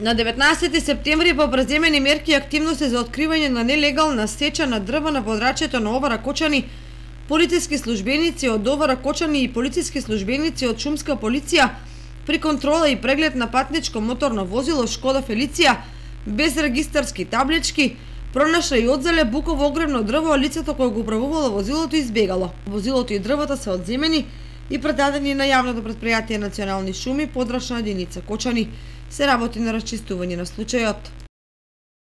На 19 септември по преземени мерки и активности за откривање на нелегална сеча на дрво на подрачјето на ова Ракочани, полициски службеници од ова Ракочани и полициски службеници од шумска полиција при контрола и преглед на патничко моторно возило Шкода Фелиција без регистарски таблички пронашла и одзеле буково огромно дрво, а лицето кое го управувало возилото избегало. Возилото и дрвото се одземени и предадени на јавното претпријатие Национални шуми, подрачна единица Кочани. Се работи на расчистување на случајот.